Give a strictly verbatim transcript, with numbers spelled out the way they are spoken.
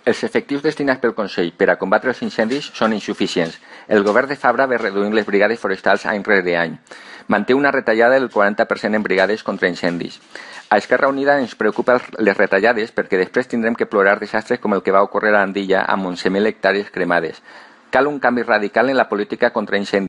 Els efectius destinats pel Consell per a combatre els incendis són insuficients. El govern de Fabra ve reduint les brigades forestals any rere any. Manté una retallada del quaranta per cent en brigades contra incendis. A Esquerra Unida ens preocupen les retallades perquè després tindrem que plorar desastres com el que va ocórrer a Andilla amb onze mil hectàrees cremades. Cal un canvi radical en la política contra incendis.